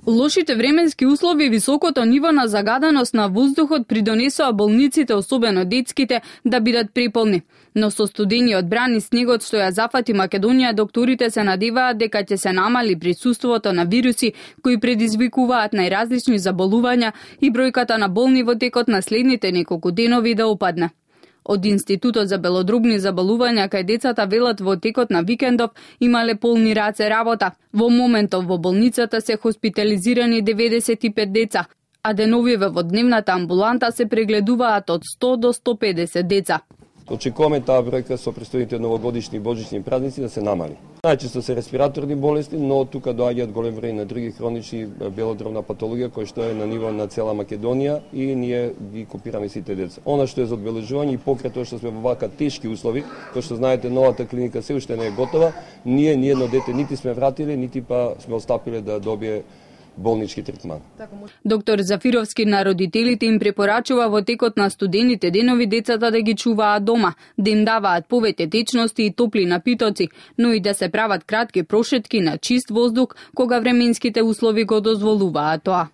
Лошите временски услови и високото ниво на загаденост на воздухот придонесоа болниците, особено детските, да бидат преполни. Но со студениот бран и снегот што ја зафати Македонија, докторите се надеваат дека ќе се намали присуството на вируси кои предизвикуваат најразлични заболувања и бројката на болни во текот на следните неколку денови да опадне. Од Институтот за белодробни заболувања кај децата велат во текот на викендов имале полни раце работа. Во моментов во болницата се хоспитализирани 95 деца, а деновиве во дневната амбуланта се прегледуваат од 100 до 150 деца. Очекуваме таа бројка со престојните новогодишни и божични празници да се намали. Најчесто се респираторни болести, но тука доаѓаат голем број на други хронични белодробна патологија која што е на ниво на цела Македонија и ние ги копираме сите деца. Она што е за одбележување и покрај тоа што сме во вака тешки услови, кој што знаете новата клиника се уште не е готова, ние ни едно дете нити сме вратиле, нити па сме остапиле да добие болнички третман. Доктор Зафировски на родителите им препорачува во текот на студените денови децата да ги чуваат дома, да им даваат повеќе течности и топли напитоци, но и да се прават кратки прошетки на чист воздух кога временските услови го дозволуваат тоа.